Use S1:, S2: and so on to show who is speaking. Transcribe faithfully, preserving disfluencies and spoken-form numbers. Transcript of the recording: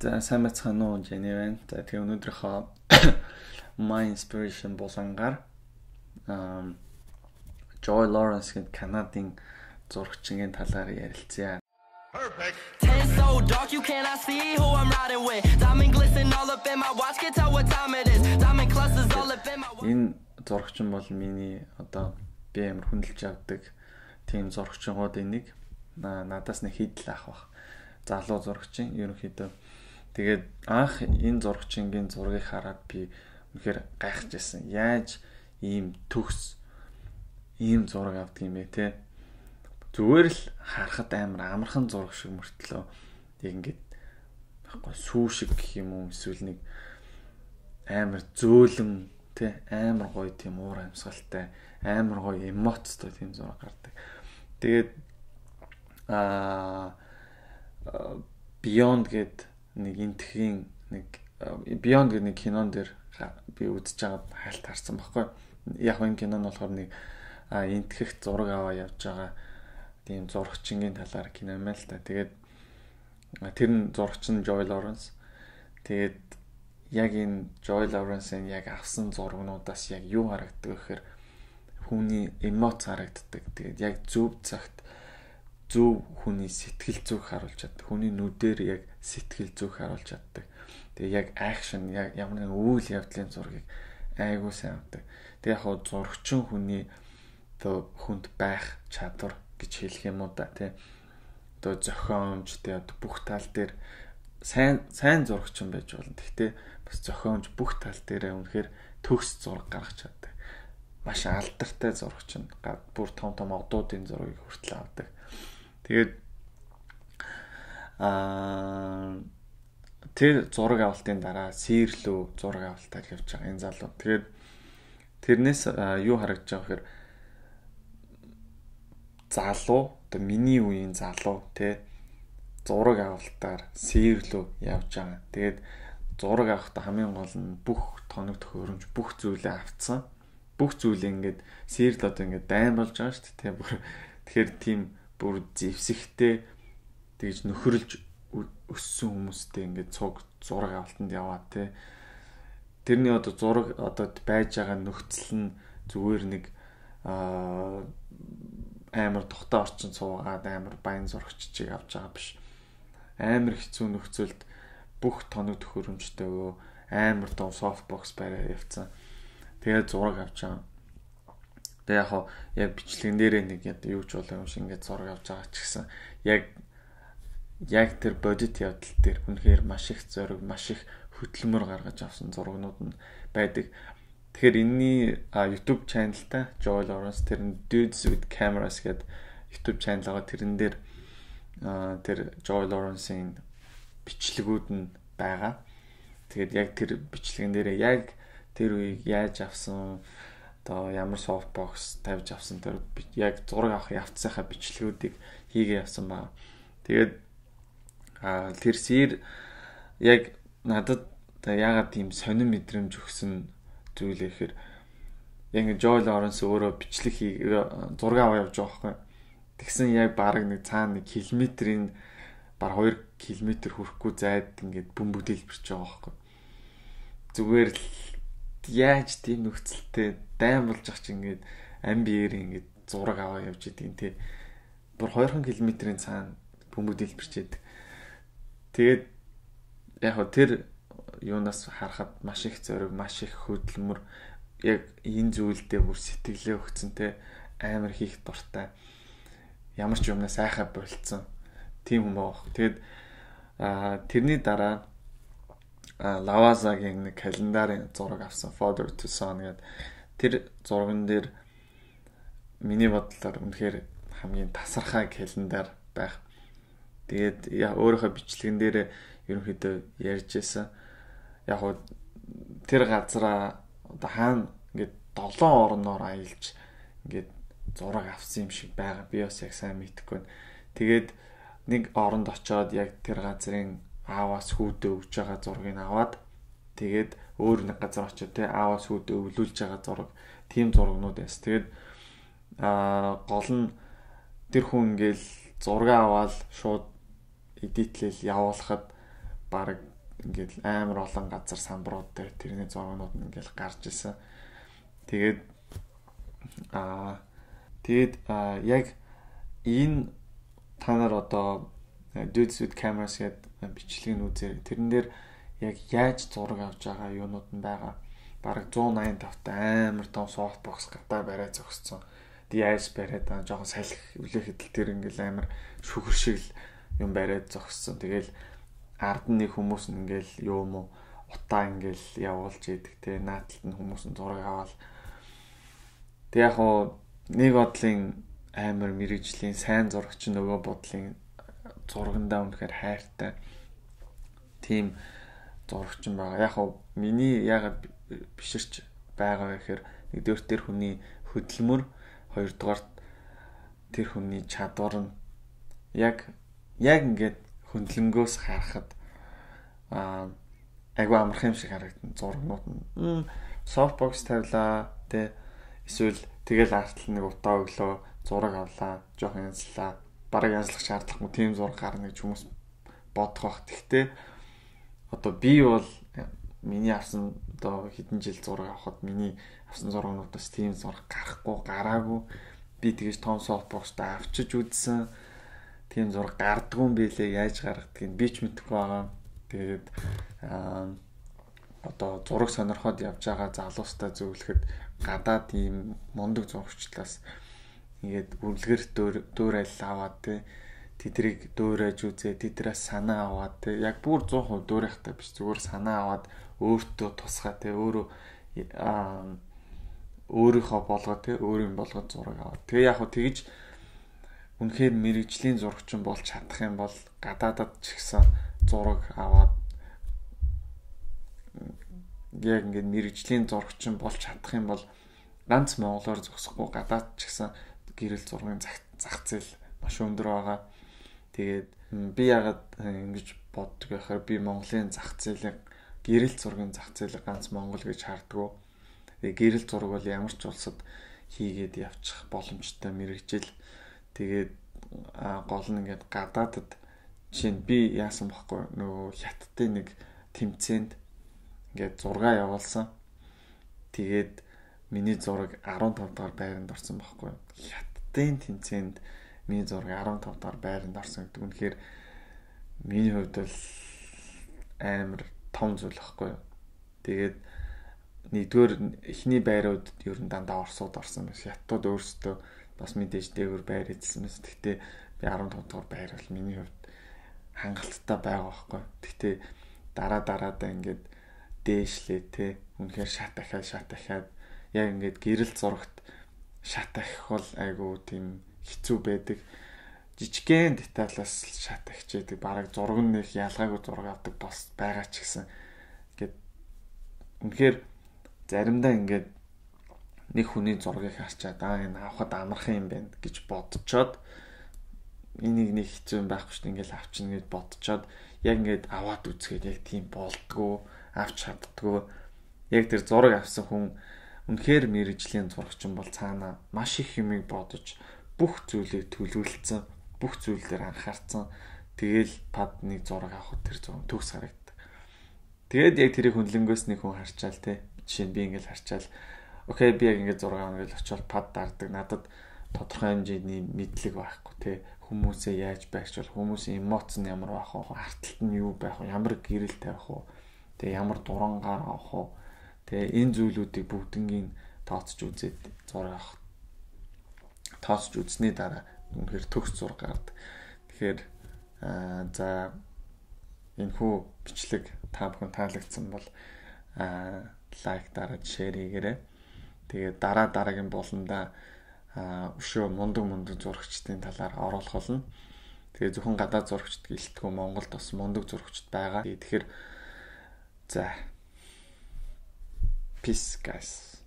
S1: За сайн байцгаана уу Jenny байна. За тэгээ өнөөдрийнхөө My Inspiration болонгаар um Joy Lawrence гэдэг Канадын зурагчийн талаар ярилцъя.
S2: Perfect. Ten so dark you cannot see who I'm riding with. Diamond glisten all up in my watch, can tell what time it is. Diamond clusters all up in my watch.
S1: Энэ зурагчин бол миний одоо би амар хүндэлж авдаг тийм зурагчингуудын нэг. Надаас нэг хидл ах бах. Залуу зурагчин ерөнхийдөө. Тэгээд анх энэ зурагчингийн зургийг хараад би үнэхээр гайхаж байсан. Яаж ийм төгс ийм зураг авдаг юм бэ те? Зүгээр л харахад амар амархан зураг шиг мөртлөө яг ингээд байхгүй сүү шиг гэх юм уу эсвэл нэг амар зөөлөн те амар гоё тийм уур амьсгалтай амар гоё эмоцтой тийм зураг гардаг. Тэгээд аа Beyond гэд нэг энтхийн нэг Beyond гэдэг нэг кинон дээр би үзэж байгаад хайлт харсан байхгүй. Яг энэ кинон нь болохоор нэг энтгэх зураг аваа явж байгаа тийм зурагчингийн талаар кино юм л та. Тэгээд тэр нь зурагчин Joy Lawrence. Тэгээд яг энэ Joy Lawrence-ийн яг авсан зургнуудаас яг юу харагддаг гэхээр хүний эмоц харагддаг. Тэгээд яг зөв цагт зөв хүний сэтгэл зүг харуулж чаддаг. Хүний нүдээр яг сэтгэл зүг харуулж чаддаг. Тэгээ яг акшн яг ямар нэгэн үйл явдлын зургийг айгуу сайн авдаг. Тэгээ яг хоо зурагчин хүний одоо хүнд байх чадвар гэж хэлэх юм уу да тий. Одоо зохиомж тий одоо бүх тал дээр сайн сайн зурагчин байж болно. Гэхдээ бас зохиомж бүх тал дээрээ үнэхээр төгс зураг гаргаж чаддаг. Маш алдартай зурагчин. Бүр том том одуудын зургийг хүртэл авдаг. Тэгээд аа тэр зураг авалтын дараа сирлүү зураг авалтаар явж байгаа энэ залуу. Тэгээд тэрнээс юу харагдаж байгаа гэхээр залуу одоо миний үеийн залуу тий зураг авалтаар сирлүү явж байгаа. Тэгээд зураг авахдаа хамгийн гол нь бүх тоног төхөөрөмж бүх зүйлээ авцсан. Бүх зүйлээ ингээд сирл одоо ингээд дайн болж байгаа шүү дээ. Тэгэхээр тийм бүр зевсэгтэй тэгж нөхөрлж өссөн хүмүүстэй ингээд цуг зураг авалтанд яваа те. Тэрний одоо зураг одоо байж байгаа нөхцөл нь зүгээр нэг аа амар тухтай орчин суугаад амар баян зурагчийг авч байгаа биш. Амар хэцүү нөхцөлд бүх тоног төхөөрөмжтэйгөө амар том софтбокс бариад явцсан. Тэгээд зураг авч байгаа. Тэгээ яг яг бичлэгэн дээрээ нэг юу ч болоо юм шиг ингээд зураг авч байгаа ч гэсэн яг яг тэр бодит явдал дээр үнэхээр маш их зориг, маш их хөдөлмөр гаргаж авсан зургнууд нь байдаг. Тэгэхээр энэний YouTube channel-та Joy Lawrence тэр нь Dudes with Cameras гэдэг YouTube channel байгаа. Тэрэн дээр тэр Joy Lawrence-ийн бичлэгүүд нь байгаа. Тэгээд яг тэр бичлэгэн дээрээ яг тэр үеийг яаж авсан одоо ямар софтбокс тавьж авсан тэр яг зураг авах явцсайхаа бичлэгүүдийг хийгээ явсан байна. Тэгээд а тэр сэр яг надад яагаад тийм сонин мэдрэмж өгсөн зүйл гэхээр яг Joy Lawrence өөрөө бичлэг хий зураг аваа явж байгаа байхгүй. Тэгсэн яг бараг нэг цаана нэг километрийн баг хоёр километр хүрэхгүй зайд ингээд бөмбөг дэлбэрч байгаа байхгүй. Зүгээр л яаж тийм нөхцөлтэй дайм болж ах чи ингээд амбиэр ингээд зураг аваа явж идэг тий. Бүр хоёр километрийн цаана бөмбөг дэлбэрчээд. Тэгээд яг хөө тэр юунаас харахад маш их зориг, маш их хөдөлмөр яг энэ зүйлдээ бүр сэтгэлээ өгцөн те амар хийх дуртай. Ямар ч юмнаас айхаа болцсон. Тийм хүн байгаа. Тэгээд аа тэрний дараа Лавазагийн нэг календарын зураг авсан Father to Son гэдэг тэр зурган дээр миний бодлоор үнэхээр хамгийн тасархай календар байх. Тэгээд яа өөрийнхөө бичлэгэн дээр ерөнхийдөө ярьж байсан. Яг хөө тэр газараа одоо хаана ингээд долоон орноор аялж ингээд зураг авсан юм шиг байгаа. Би бас яг сайн мэдэхгүй. Тэгээд нэг оронд очиод яг тэр газрын ааваас хүүдээ өгж байгаа зургийг аваад тэгээд өөр нэг газар очиод те ааваас хүүдээ өвлүүлж байгаа зураг тийм зургнууд байсан. Тэгээд аа гол нь тэр хүн ингээл зураг аваад шууд эдитлэл явуулахад баг ингээд амар олон газар самбарууд дээр тэрний зургууд нь ингээд гарч исэн. Тэгээд аа тэгээд яг энэ та нар одоо Dudes with Cameras гэдэг бичлэгийг үзээ. Тэрэн дээр яг яаж зураг авч байгаа юунууд нь байгаа. Бараг one ninety-five та амар том softbox гадаа барай зогссон. Яаж бариад аа жоохон салхи үлээхэд тэр ингээл амар шүхэр шиг юм бариад зогссон. Тэгэл ард нь нэг хүмүүс нь ингээл юу юм уу утаа ингээл явуулж идэг те нааталт нь хүмүүс нь зураг аваад. Тэг яг хоо нэг бодлын амар мэрэгжлийн сайн зурагч нөгөө бодлын зургандаа үнэхээр хайртай тийм зурагч юм байгаа. Яг хоо миний ягаад биширч байгаа гэхээр нэгдүгээр тэр хүний хөдөлмөр, хоёрдугаар тэр хүний чадвар нь яг яг ингээд хөндлөнгөөс харахад аа айгүй амархан юм шиг харагдана зургнууд нь. Softbox тавилаа тэ эсвэл тэгэл артлал нэг утаа өглөө зураг авлаа, жоохон янзлаа. Бараг янзлах шаардлагагүй тийм зураг гарна гэж хүмүүс бодох бах. Гэхдээ одоо би бол миний авсан одоо хэдэн жил зураг авахад миний авсан зургнуудаас тийм зураг гарахгүй, гараагүй. Би тэгэж том softbox-та авчиж үзсэн. Тийм зураг гардгүй юм билээ, яаж гаргадгийг би ч мэдэхгүй байгаа. Тэгээд аа одоо зураг сонирхоод явж байгаа залуустай зөвлөхөд гадаад ийм мундаг зурагчлаас ингээд үргэлгэр дөөрэл аваад те тэдрийг дөөрэж үзээ, тэдрээс санаа аваад те яг бүр one hundred percent дөөрөхтэй биш, зүгээр санаа аваад өөртөө тусгай те өөрөө аа өөрийнхөө болгоо те өөр юм болгоод зураг аваад. Тэгээ яг хөө тэгж үнэхээр мэрэгжлийн зурагчин болж чадах юм бол гадаадад ч ихсэн зураг аваад яг ингээд мэрэгжлийн зурагчин болж чадах юм бол ганц монголоор зогсохгүй гадаад ч ихсэн гэрэл зургийн зах зээл маш өндөр байгаа. Тэгээд би ягаад ингэж боддог байхаар би Монголын зах зээлийг гэрэл зургийн зах зээлийг ганц Монгол гэж харддаг. Тэгээд гэрэл зураг бол ямар ч улсад хийгээд явчих боломжтой мэрэгжил. Тэгээд гол нь ингээд гадаадад жишээ нь би яасан бэхгүй нөгөө хятадын нэг тэмцээнд ингээд зураг явуулсан. Тэгээд миний зураг fifteen дахь байранд орсон бэхгүй. Хятадын тэмцээнд миний зураг fifteen дахь байранд орсон гэдэг нь үнэхээр миний хувьд бол амар том зүйл бэхгүй. Тэгээд нэгдүгээр эхний байрууд ер нь дандаа Оросууд орсон байсан. Хятадууд өөрсдөө бас мэдээж дээгүүр байр эзэлсэн мэс. Гэхдээ би fifteen дахь байр бол миний хувьд хангалттай байгаа байхгүй. Гэхдээ дараа дараадаа ингээд дээшлээ те. Үнэхээр шат дахиад шат дахиад яг ингээд гэрэл зурагт шат дахих бол айгу тийм хэцүү байдаг. Жижигхэн деталаас шат дахиж яадаг. Бараг зураг нь их ялгаагүй зураг авдаг бас байгаа ч гэсэн. Ингээд үнэхээр заримдаа ингээд нэг хүний зургийг харчаад аа энэ авахд амархан юм байна гэж бодцоод энийг нэг хэцүү юм байхгүй шүү дээ ингээл авчна гэж бодцоод яг ингээд аваад үзгээд яг тийм болдгоо авч чаддгоо яг тэр зураг авсан хүн үнэхээр мэрэгжлийн зурагчин бол цаана маш их юмыг бодож бүх зүйлийг төлөвлөсөн бүх зүйл дээр анхаарсан тэгэл пад нэг зураг авахд тэр зураг төгс харагддаг. Тэгээд яг тэрийг хөндлөнгөөс нэг хүн харчаал те жишээ нь би ингээл харчаал окей би яг ингээд зураг авах гэж очивол пад даардаг надад тодорхой хэмжээний мэдлэг байхгүй те хүмүүсээ яаж байрчвал хүмүүсийн эмоц нь ямар байх вэ арталт нь юу байх вэ ямар гэрэл тавих вэ тэгээ ямар дурангаар авах вэ тэгээ энэ зүйлүүдийг бүгднийг тооцож үзээд зураг авах тооцож үзсний дараа үнэхээр төгс зураг гардаг. Тэгэхээр за энэ хүү бичлэг та бүхэн таалагдсан бол лайк дараад шеэр хийгээрэй. Тэгээд дараа дараагийн болондоо өшөө мундаг мундаг зурагчдын талаар оруулах болно. Тэгээ зөвхөн гадаад зурагчд гэлтгүй Монголд бас мундаг зурагчд байгаа. Тэгэхээр за peace guys.